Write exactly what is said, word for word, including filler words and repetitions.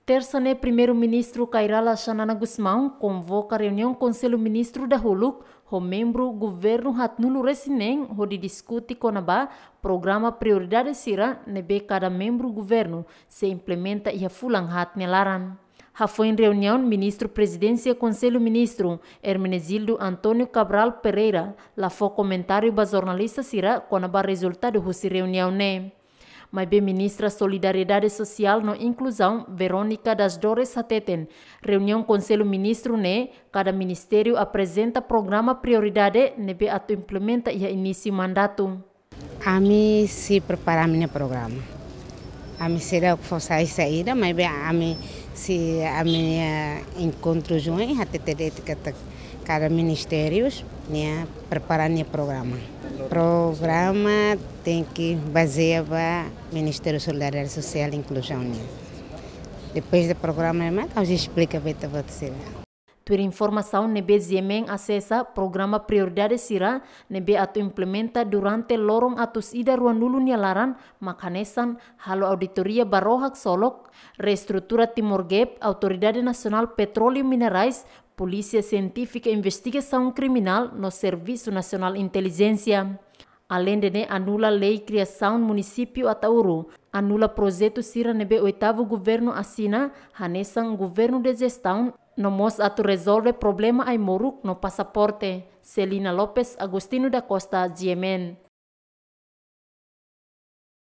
Tersa ne'e, Primeiru-Ministru Kay Rala Xanana Gusmão konvoka reuniaun Konsellu Ministru dahuluk ho membru governu haatnulu-resin-neen hodi diskute kona-ba programa prioridade sira ne'ebé kada membru governu sei implementa iha fulan haat nia laran. Hafoin reuniaun, Ministru Prezidénsia Konsellu Ministru, Hermenegildo António Cabral Pereira, la fó komentáriu ba jornalista sira kona-ba rezultadu husi reuniaun ne'e. Maibé Ministra Solidariedade Sosiál no Inkluzaun, Verónica das Dores, hateten, reuniaun Konsellu Ministru ne'e, kada ministériu aprezenta programa prioridade ne'ebé atu implementa iha inísiu mandatu. Ami sei prepara ami-nia programa. Ami seidauk fó sai saída, maibé ami sei, ami, eh, enkontru join, hatete de'it katak kada ministériu nia prepara nia programa. Programa tenke bazeia ba Ministériu Solidariedade Sosiál i Inkluzaun nian. Depois de programa, ema, ha'u sei esplika ba ita-boot sira. Tuir informasaun ne'ebé GMN asesa, programa prioridade sira ne'ebé atu implementa durante loron atus ida ruanulu nia laran mak hanesan: halo auditoria ba ró haksolok, reestrutura Timor Gap, Autoridade Nasionál Petróleu i Minerais, Polísia Sientífika Investigasaun Kriminál no Servisu Nasionál Intelijénsia. Aleinde ne'e, anula lei kriasaun munisípiu Ataúro, anula projetu sira ne'ebé oitavu governu asina, hanesan governu de jestaun, no mós atu rezolve problema ai-moruk no pasaporte. Celina Lopes, Agostinho da Costa, GMN.